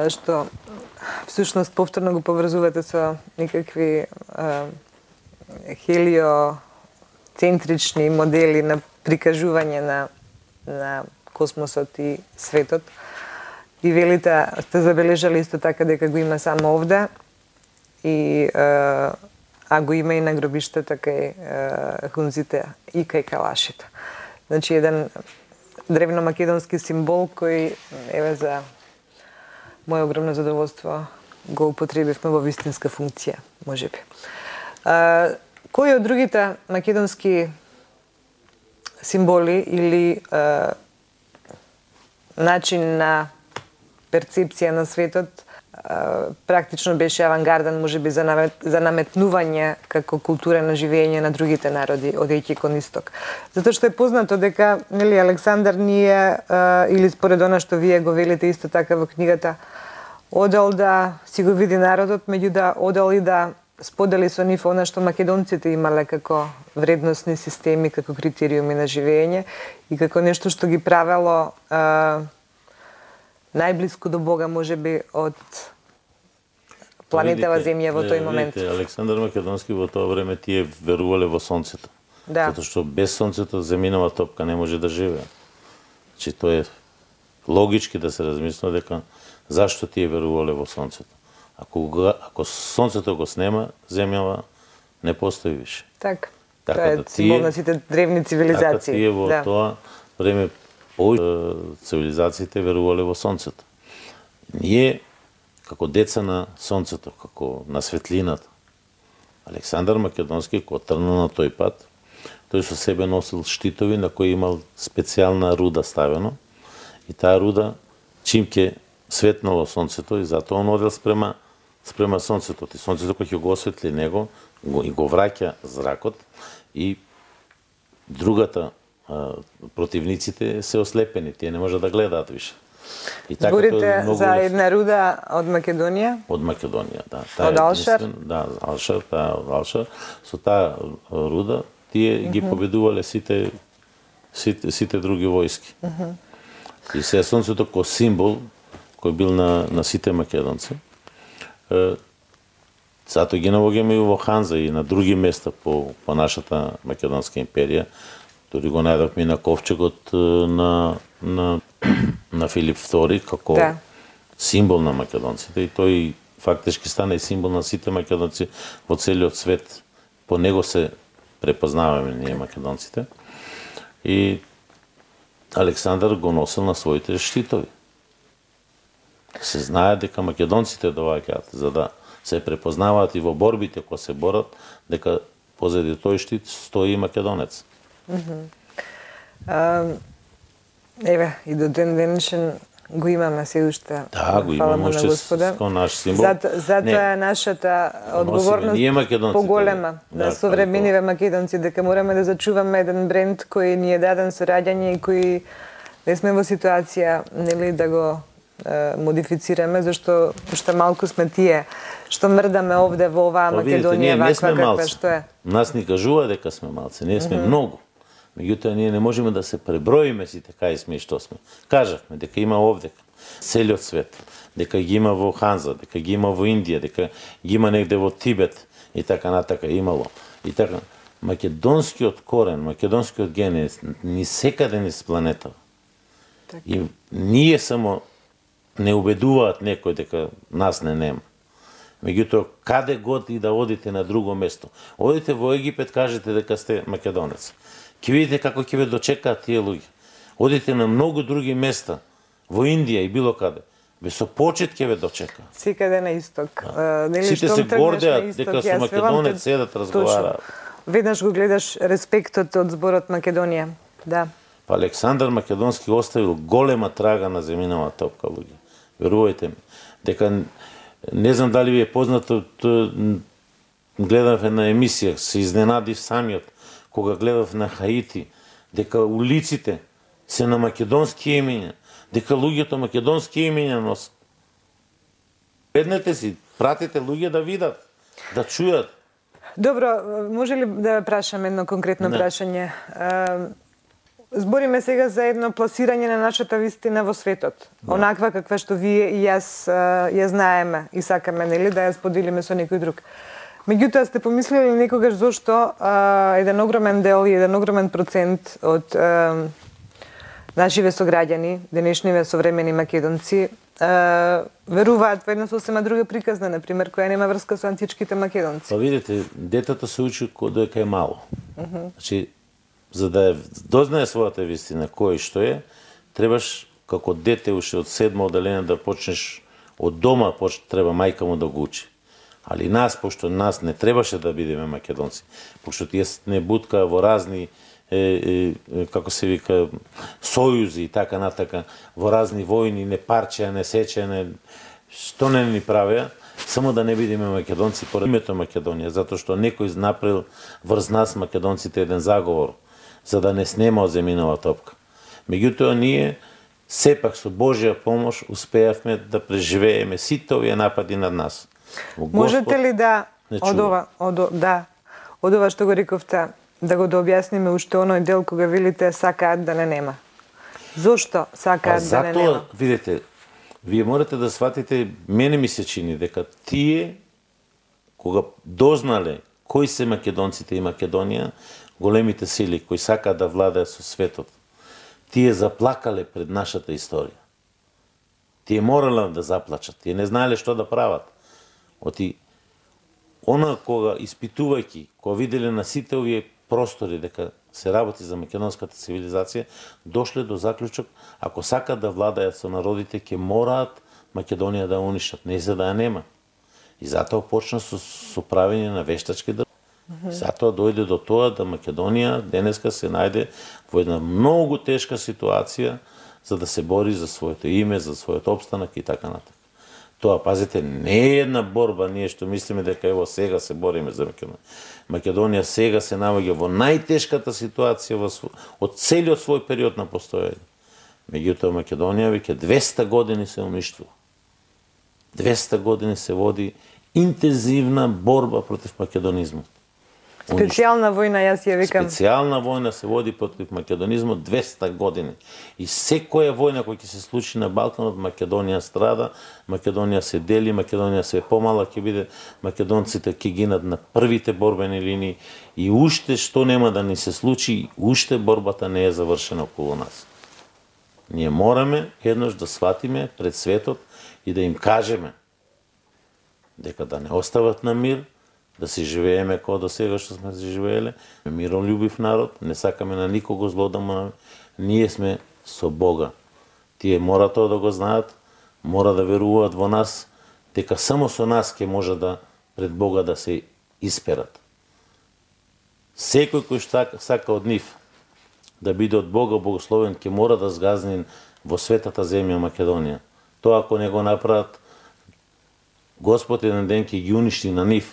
[SPEAKER 1] што всушност повторно го поврзувате со некакви хелиоцентрични модели на прикажување на, на космосот и светот. И велите, сте забележали исто така дека го има само овде, и, а, а го има и на гробиштата кај хунзите и кај калашите. Значи, еден древно македонски символ кој, еве, за моје огромно задоволство го употребивме во вистинска функција, можеби. А, кои од другите македонски символи или а, начин на перцепција на светот а, практично беше авангарден, можеби за, намет, за наметнување како култура на живење на другите народи, одејќи кон исток. Затоа што е познато дека, нели, Александар ние, а, или според она што вие го велите исто така во книгата, одел да си го види народот, меѓу да одел и да сподели со нив она што македонците имале како вредносни системи, како критериуми на живење и како нешто што ги правело а, најблиску до Бога, можеби, од планетава Земја во тој момент.
[SPEAKER 2] Видите, Александар Македонски во тоа време тие верувале во сонцето.
[SPEAKER 1] Да.
[SPEAKER 2] Затоа што без сонцето земјинова топка не може да живее. Значи тоа е логички да се размислува дека Зашто тие верувале во сонцето? Ако, ако сонцето го снема, земјава не постои више.
[SPEAKER 1] Так.
[SPEAKER 2] Така
[SPEAKER 1] тоа е
[SPEAKER 2] да
[SPEAKER 1] символ на сите древни цивилизации.
[SPEAKER 2] Така тие во
[SPEAKER 1] да.
[SPEAKER 2] тоа време повеќе цивилизациите верувале во сонцето. Ние, како деца на сонцето, како на светлината, Александар Македонски, кој тргна на тој пат, тој со себе носил штитови на кои имал специјална руда ставено и таа руда чим ќе светнало сонцето и затоа он одел спрема спрема сонцето. И сонцето кој ќе го осветли него го, и го враќа зракот и другата а, противниците се ослепени, тие не можат да гледаат више.
[SPEAKER 1] И така зборите за една руда од Македонија?
[SPEAKER 2] Од Македонија, да.
[SPEAKER 1] Таа од Алшар?
[SPEAKER 2] Да, Алшар, таа од Алшар. Со таа руда тие ги победувале сите сите, сите други војски. Uh -huh. И се сонцето ко символ кој бил на на сите македонци. Е, затоа ги наоѓаме и во Ханза и на други места по по нашата македонска империја. Дори го најдовме на ковчегот на на на Филип втори како да. Символ на македонците и тој фактички стана и символ на сите македонци во целиот свет. По него се препознаваме ние македонците. И Александар го носил на своите штитови. Се знае дека македонците доаѓаат за да се препознаваат и во борбите кои се борат, дека позади тој штит стои македонец.
[SPEAKER 1] Mm -hmm. uh, еве, и до ден денешен го имаме се уште.
[SPEAKER 2] Да, го имаме уште како наш символ.
[SPEAKER 1] Зато, затоа е нашата одговорност поголема на да, современиве македонци, дека мораме да зачуваме еден бренд кој ни е даден со раѓање и кој не сме во ситуација нели да го е, модифицираме, зашто уште малку сме тие што мрдаме овде во оваа
[SPEAKER 2] па,
[SPEAKER 1] Македонија ваква каква што е.
[SPEAKER 2] Нас ни кажува дека сме малци, ние сме mm -hmm. многу. Меѓутоа, ние не можеме да се преброиме сите кај сме и што сме. Кажавме дека има овде целиот свет, дека ги има во Ханза, дека ги има во Индија, дека ги има негде во Тибет и така натака имало. И така, македонскиот корен, македонскиот ген е ни секаде низ планета. Так. И ние само не убедуваат некој дека нас не нема. Меѓутоа, каде год и да одите на друго место. Одите во Египет, кажете дека сте македонец. Ќе видите како ќе ве дочекаат тие луѓе. Одите на многу други места, во Индија и било каде. Бе со почит ќе ве дочека.
[SPEAKER 1] Секаде на исток.
[SPEAKER 2] Да. Нели, сите се гордеат дека со македонец седат, разговараат.
[SPEAKER 1] Веднаш го гледаш респектот од зборот Македонија. Да.
[SPEAKER 2] Па Александар Македонски оставил голема трага на земјинава топка, луѓе. Верувајте ми. Дека не знам дали ви е познато, гледав една емисија, се изненадив самиот кога гледав на Хаити, дека улиците се на македонски имиња, дека луѓето македонски имиња носат. Гледнете си, пратите луѓе да видат, да чујат.
[SPEAKER 1] Добро, може ли да прашам едно конкретно не. прашање? Збориме сега за едно пласирање на нашата вистина во светот. Да. Онаква каква што вие и јас ја знаеме и сакаме, нели, да ја споделиме со некој друг. Меѓутоа, сте помислили некогаш зошто а, еден огромен дел и еден огромен процент од а, нашиве сограѓани, денешниве современи македонци, а, веруваат во една сосема друга приказна, например, која нема врска со античките македонци?
[SPEAKER 2] Па видите, детето се учи додека е мало. Uh -huh. Значи, за да дознае својата вистина, кој и што е, требаш како дете уште од седмо оделение да почнеш од дома, поч, треба мајка му да го учи. Али нас, пошто нас не требаше да бидеме македонци, пошто тие не буткаа во разни, е, е, како се вика, сојузи и така натака, во разни војни, не парчеа, не сечеа, не, што не ни правеа, само да не бидеме македонци поред името Македонија, затоа што некој направил врз нас македонците еден заговор, за да не снема од земјинава топка. Меѓутоа, ние сепак со Божја помош успеавме да преживееме сите овие напади над нас.
[SPEAKER 1] Господ, можете ли да од ова, од да, од ова што го рековте, да го дообјасниме уште оној дел кога велите сакаат да не нема? Зошто сакаат да не нема?
[SPEAKER 2] Затоа, видите, вие морате да сватите, мене ми се чини дека тие кога дознале кои се македонците и Македонија, големите сили кои сакаат да владеат со светот, тие заплакале пред нашата историја. Тие морале да заплачат, тие не знаеле што да прават. Оти, она кога испитувајќи, кога виделе на сите овие простори дека се работи за македонската цивилизација, дошле до заклучок, ако сакат да владаат со народите, ќе мораат Македонија да уништат, не за да ја нема. И затоа почна со, со правење на вештачки држави. Mm-hmm. Затоа дојде до тоа да Македонија денеска се најде во една многу тешка ситуација за да се бори за своето име, за својот опстанак и така натаму. Тоа, пазите, не е една борба, ние што мислиме дека ево сега се бориме за Македонија. Македонија сега се наоѓа во најтешката ситуација во сво... од целиот свој период на постоење. Меѓутоа Македонија веќе двесте години се уништува. двесте години се води интензивна борба против македонизмот.
[SPEAKER 1] Специјална војна, јас ја викам.
[SPEAKER 2] Специјална војна се води против македонизмот двесте години. И секоја војна која ќе се случи на Балканот, Македонија страда, Македонија се дели, Македонија све помала ќе биде, македонците ќе гинат на првите борбени линии и уште што нема да ни се случи, уште борбата не е завршена околу нас. Ние мораме еднаш да сватиме пред светот и да им кажеме дека да не остават на мир, да си живееме како до сега што сме си живееле, миролюбив народ, не сакаме на никого зло да му... Ние сме со Бога. Тие мора тоа да го знаат, мора да веруваат во нас, дека само со нас ќе може да пред Бога да се исперат. Секој кој што сака од нив да биде од Бога богословен, ќе мора да сгазни во светата земја Македонија. Тоа ако не го направат, Господ еден ден ќе ги уништи на нив.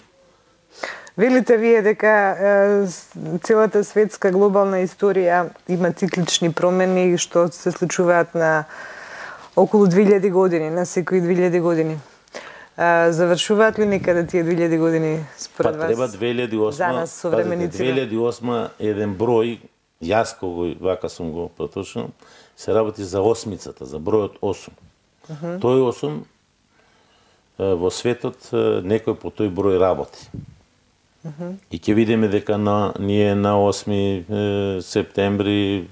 [SPEAKER 1] Велите вие дека е, целата светска глобална историја има циклични промени што се случуваат на околу две илјади години, на секои две илјади години. А, завршуваат ли некаде тие две илјади години според
[SPEAKER 2] па,
[SPEAKER 1] вас?
[SPEAKER 2] Треба две илјади и осма,
[SPEAKER 1] за нас современиците.
[SPEAKER 2] две илјади и осма еден број, јас кога вака сум го проточнал, се работи за осмицата, за бројот осум. Uh -huh. Тој осум во светот некој по тој број работи. Uh -huh. И ќе видиме дека на, ние на осми септември,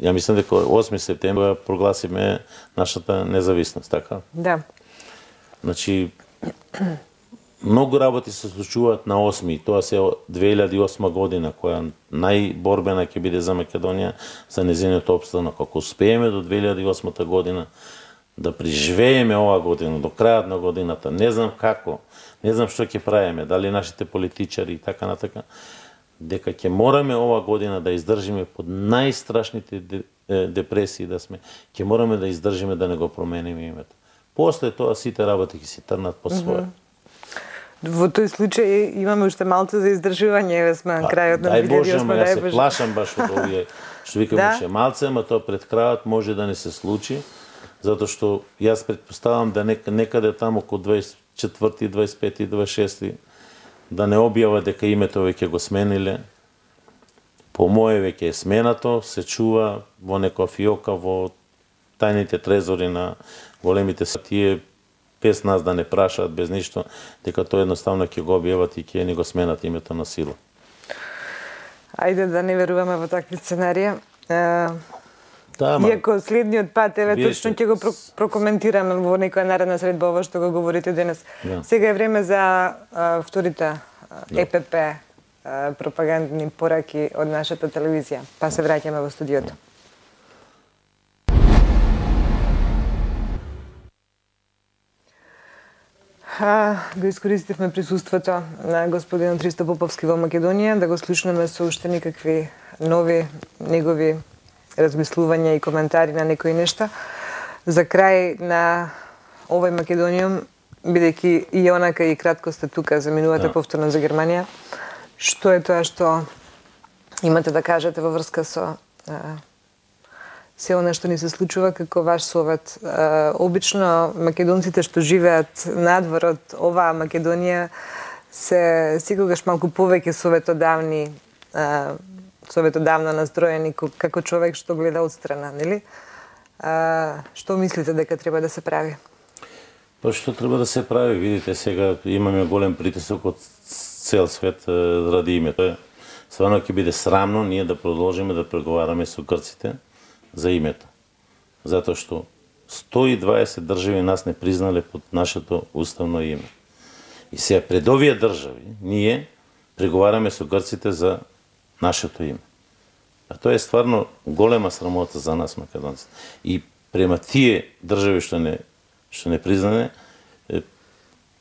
[SPEAKER 2] ја мислам дека осми септември прогласиме нашата независност, така?
[SPEAKER 1] Да.
[SPEAKER 2] Значи, многу работи се случуваат на осми, тоа се две илјади и осма година, која најборбена ќе биде за Македонија, за незиниот опстанок. Ако успееме до две илјади и осма година, да преживееме ова година, до крајот на годината, не знам како, не знам што ќе правиме, дали нашите политичари и така натака, дека ќе мораме ова година да издржиме под најстрашните депресии да сме, ќе мораме да издржиме да не го промениме името. После тоа сите работи ќе се трнат по своје.
[SPEAKER 1] Во тој случај имаме уште малце за издржување, еве сме на крајот на две илјади и осма.
[SPEAKER 2] Дај Боже, јас се плашам баш од овие, што викам
[SPEAKER 1] да?
[SPEAKER 2] уште малце, ама тоа пред крајот може да не се случи, затоа што јас претпоставам да некаде таму околу дваесет и четврти, дваесет и пети, дваесет и шести да не објава дека името веќе го смениле. По моје веќе е сменато, се чува во некоја фиока во тајните трезори на големите сатие, без нас да не прашаат, без ништо, дека тоа едноставно ќе го објават и ќе ни го сменат името на сила.
[SPEAKER 1] Ајде да не веруваме во такви сценарија.
[SPEAKER 2] Да, ма...
[SPEAKER 1] Иако следниот пат, еве, точно ќе го прокоментираме во некоја наредна средба ова што го говорите денес. Да. Сега е време за а, вторите да. Е Пе Пе а, пропагандни пораки од нашата телевизија. Па се враќаме во студиото. А, го искористивме присуството на господинот Христо Поповски во Македонија да го слушнеме со уште никакви нови негови размислувања и коментари на некои нешта. За крај на овој Македониум, бидејќи и онака и кратко сте тука, заминувате да. повторно за Германија, што е тоа што имате да кажете во врска со а, се она што ни се случува како ваш совет? А, обично македонците што живеат надвор од оваа Македонија се секогаш малку повеќе советодавни, а, советодавно настроени како човек што гледа од страна, нели? А, што мислите дека треба да се прави?
[SPEAKER 2] Па што треба да се прави? Видите, сега имаме голем притисок од цел свет ради името. Стварно ќе биде срамно ние да продолжиме да преговараме со грците за името. Затоа што сто и дваесет држави нас не признале под нашето уставно име. И сега пред овие држави ние преговараме со грците за нашето име. А тоа е стварно голема срамота за нас македонците. И према тие држави што не што не признане,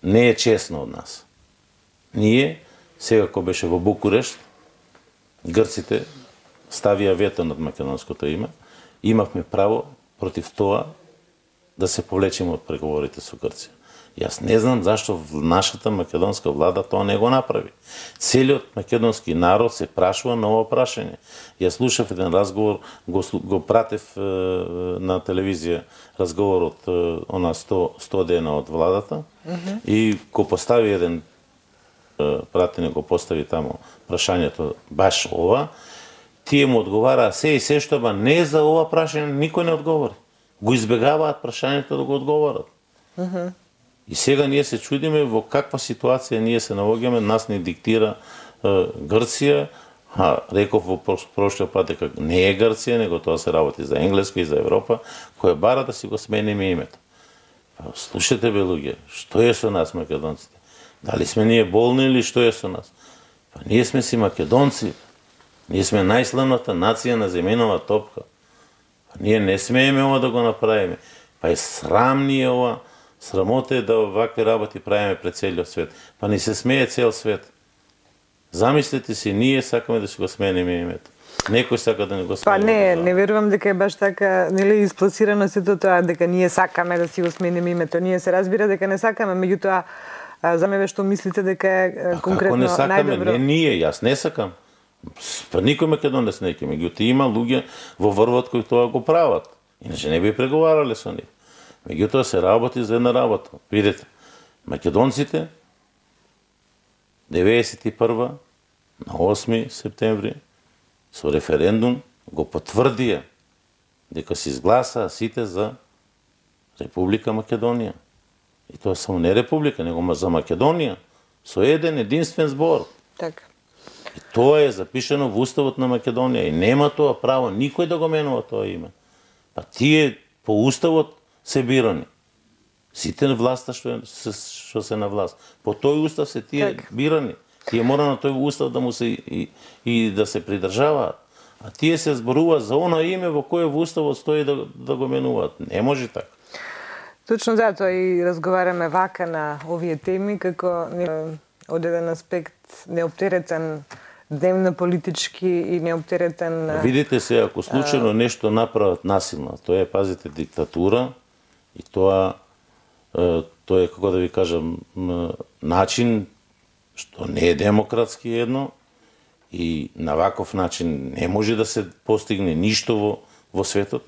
[SPEAKER 2] не е честно од нас. Ние сега кога беше во Букурешт, грците ставија вето над македонското име, имавме право против тоа да се повлечеме од преговорите со Грција. Јас не знам зашто нашата македонска влада тоа не го направи. Целиот македонски народ се прашува на ова прашање. Јас слушав еден разговор, го, го пратев е, на телевизија разговорот е, она сто, сто дена од владата, mm -hmm. и го постави еден е, пратене го постави тамо прашањето баш ова, тие му одговараа се и се што, ба не за ова прашање никој не одговори. Го избегаваат прашањето да го одговорат. Mm -hmm. И сега ние се чудиме во каква ситуација ние се наоѓаме, нас не диктира е, Грција, а реков во прошлиот пат дека не е Грција, него тоа се работи за Енглеска и за Европа, која бара да си го смениме името. Па, слушате бе луѓе, што е со нас македонците? Дали сме ние болни или што е со нас? Па ние сме си македонци. Ние сме најславната нација на земјинова топка. Па ние не смееме ова да го направиме. Па е срам ни е ова. Срамота е да вакви работи правиме пред целиот свет. Па ни се смее цел свет. Замислете си, ние сакаме да си го смениме името. Некој сака да не го смениме.
[SPEAKER 1] Па не, не верувам дека е баш така, нели, испласирано сето тоа дека ние сакаме да си го смениме името. Ние се разбира дека не сакаме, меѓутоа за мене што мислите дека е конкретно најдобро. Како не сакаме?
[SPEAKER 2] Не ние, јас не сакам. Па никој македонец не ќе, меѓутоа има луѓе во врвот кои тоа го прават. Иначе не би преговарале со нив. Меѓутоа се работи за една работа. Видете, македонците деветдесет и прва на осми септември со референдум го потврдија дека се изгласаа сите за Република Македонија. И тоа само не Република, него за Македонија, со еден единствен збор.
[SPEAKER 1] Така.
[SPEAKER 2] И тоа е запишено во Уставот на Македонија и нема тоа право никој да го менува тоа име. Па тие по Уставот се бирани. Сите на власта што, се, што се на власт. По тој устав се тие так. бирани. Тие мора на тој устав да му се и, и да се придржаваат. А тие се зборуваат за оно име во кое во уставот стои да, да го менуваат. Не може така.
[SPEAKER 1] Точно затоа и разговараме вака на овие теми, како од еден аспект неоптеретен дневно политички и неоптеретен...
[SPEAKER 2] Видите се, ако случайно а... нешто направат насилно, тоа е, пазите, диктатура и тоа, тоа е, како да ви кажам, начин што не е демократски едно и на ваков начин не може да се постигне ништо во, во светот.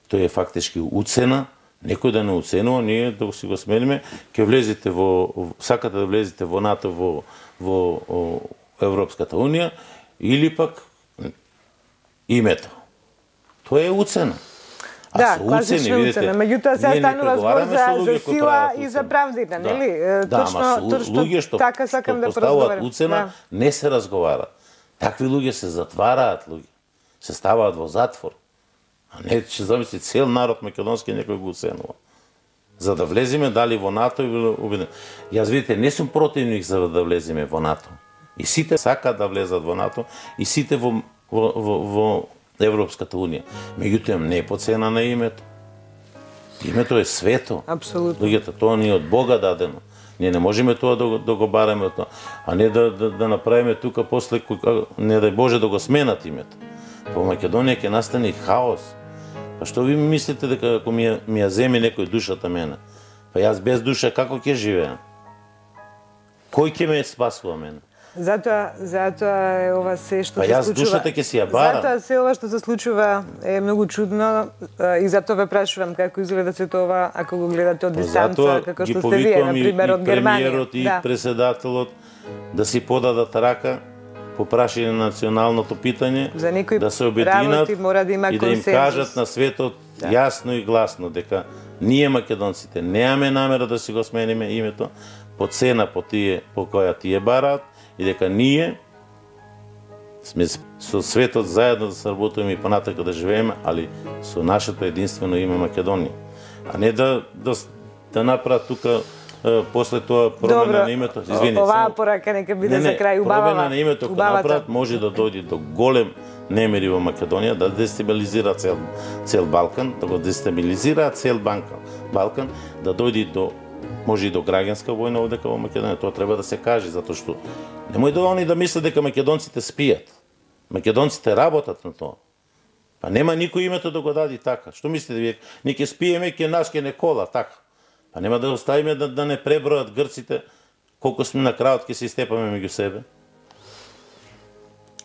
[SPEAKER 2] Тоа е фактички уцена. Некој да не уценува, ние да си го смениме, ќе влезете во, сакате да влезете во НАТО, во, во, во Европската Унија, или пак името. Тоа е уцена. А
[SPEAKER 1] да, класична уцена. Меѓутоа се станува збор за, за сила и за правдина, да. Нели?
[SPEAKER 2] Да, точно, ама точно луѓе што, така сакам што да поставуваат уцена, да. Не се разговара. Такви луѓе се затвараат, луѓе. Се ставаат во затвор. А не, че замисли, цел народ македонски некој го уценува. За да влеземе дали во НАТО или убеден. Јас, видите, не сум противник за да влеземе во НАТО. И сите сакаат да влезат во НАТО, и сите во, во, во, во Европската Унија. Меѓутоа не е по цена на името. Името е свето.
[SPEAKER 1] Апсолутно.
[SPEAKER 2] Луѓето, тоа ни е од Бога дадено. Ние не можеме тоа да, да го бараме тоа, а не да, да, да направиме тука после, не дај Боже да го сменат името. По Македонија ќе настане хаос. Па што ви мислите дека ако ми ја, ми ја земи некој душата мене? Па јас без душа како ќе живеам? Кој ќе ме спасува мене?
[SPEAKER 1] Затоа, затоа е ова се што
[SPEAKER 2] па
[SPEAKER 1] се случува.
[SPEAKER 2] Па јас душата ќе си ја барам.
[SPEAKER 1] Затоа се ова што се случува е многу чудно и затоа ве прашувам како изгледа се тоа ако го гледате од дистанца, како што сте вие, на пример, од Германија.
[SPEAKER 2] Премиерот и да. Председателот да си подадат рака по прашање на националното питање, да се обединат
[SPEAKER 1] да
[SPEAKER 2] и да им кажат на светот да. Јасно и гласно дека ние македонците немаме намера да си го смениме името по цена по тие по која тие бараат и дека ние сме со светот заедно да се работиме и понатака да живееме, али со нашето единствено име Македонија. а не да да да направат тука после тоа промена на името.
[SPEAKER 1] Извини, оваа порака нека биде за крај убава.
[SPEAKER 2] Промена на името кога направат може да дојде до голем немири во Македонија, да дестабилизира цел цел Балкан, да го дестабилизира цел Балкан, Балкан, да дојде до може и до граѓанска војна овдека во Македонија. Тоа треба да се каже, затоа што немој да они да мислат дека македонците спијат. Македонците работат на тоа. Па нема никој името да го даде така. Што мислите вие? Ние ќе спиеме, ќе нас ќе не кола така. Па нема да оставиме да, да не пребројат грците колку сме на крајот ќе се истепаме меѓу себе.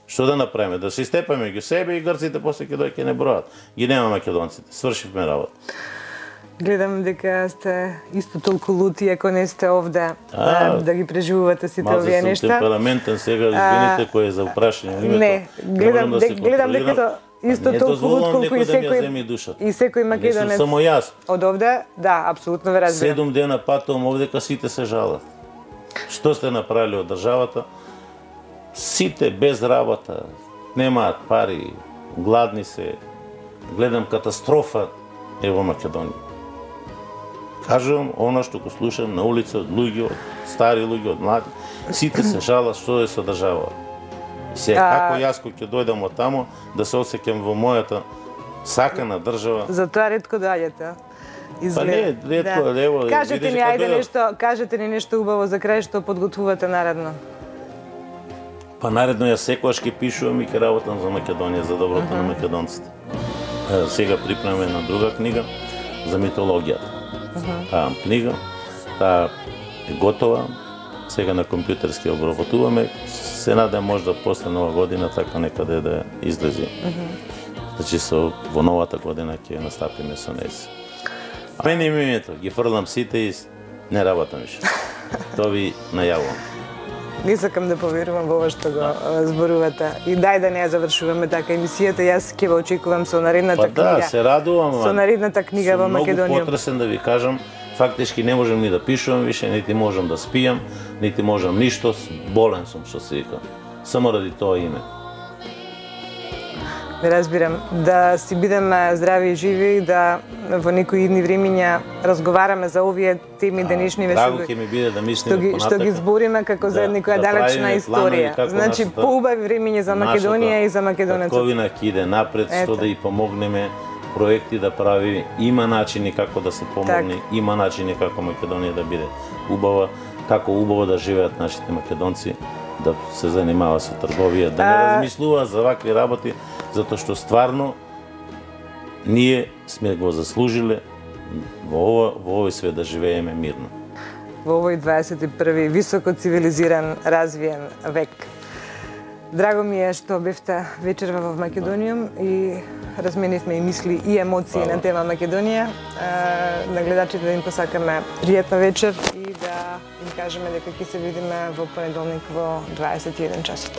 [SPEAKER 2] Што да направиме? Да се истепаме меѓу себе и грците после ќе дојде ќе не бројат. Ги нема македонците. Свршивме работа.
[SPEAKER 1] Гледам дека сте исто толку лути ако не сте овде а, да ги преживувате сите овие нешта.
[SPEAKER 2] Малку сум темпераментен сега, извините, кој е за прашање името.
[SPEAKER 1] Не, гледам, да гледам дека исто толку лут колку и секој и секој македонец.
[SPEAKER 2] Не сум само јас.
[SPEAKER 1] Од овде, да, апсолутно ве разбирам.
[SPEAKER 2] Седум дена патувам овдека, сите се жалат. Што сте направили од државата? Сите без работа, немаат пари, гладни се. Гледам катастрофа е во Македонија. Кажувам она што го слушам на улица од луѓе, од стари луѓе, од млади, сите се жалат што е со држава. Сега како јас кој ќе дојдам од тамо да се осеќам во мојата сакана држава.
[SPEAKER 1] Затоа ретко доаѓате.
[SPEAKER 2] Па не, ретко, да. Ево,
[SPEAKER 1] кажете ни ајде нешто, кажете ни нешто убаво за крај што подготвувате наредно.
[SPEAKER 2] Па наредно ја секогаш ќе пишувам и ќе работам за Македонија, за доброто uh -huh. на македонците. Сега припремаме една друга книга за митологијата. Uh -huh. Таа книга, таа е готова, сега на компјутерски обработуваме, се надам можда после нова година така некаде да излези. Uh -huh. Значи со во новата година ќе настапиме со неси. А мене името ги фрлам сите и не работам више. Тоа ви најавувам.
[SPEAKER 1] Не сакам да поверувам во ова што го зборувате. И дај да не ја завршуваме така емисијата. Јас ќе ве очекувам со наредната
[SPEAKER 2] па
[SPEAKER 1] книга.
[SPEAKER 2] Да, се радувам.
[SPEAKER 1] Со наредната книга во Македонија.
[SPEAKER 2] Многу потресен да ви кажам. Фактички не можам ни да пишувам више, нити можам да спијам, нити можам ништо. Болен сум, што се вика. Само ради тоа име.
[SPEAKER 1] Не разбирам. Да си бидеме здрави и живи, да во некои идни времиња разговараме за овие теми денешни веши.
[SPEAKER 2] Драго ќе ми биде да мислиме
[SPEAKER 1] што ги, што ги збориме како за некоја далечна историја. Значи поубави времиња за Македонија и за македонеците.
[SPEAKER 2] Татковина ќе иде напред, што да и помогнеме проекти да прави, има начини како да се помогне, так. Има начини како Македонија да биде убава, како убаво да живеат нашите македонци, да се занимава со трговија, да не а... размислува за вакви работи, затоа што стварно ние сме го заслужиле во ова во овој свет да живееме мирно.
[SPEAKER 1] Во овој дваесет и први високо цивилизиран, развиен век. Драго ми е што бевте вечерва во Македонија и разменивме и мисли и емоции Хвала. На тема Македонија. На гледачите да им посакаме пријатна вечер и да им кажеме дека ќе се видиме во понеделник во дваесет и еден часот.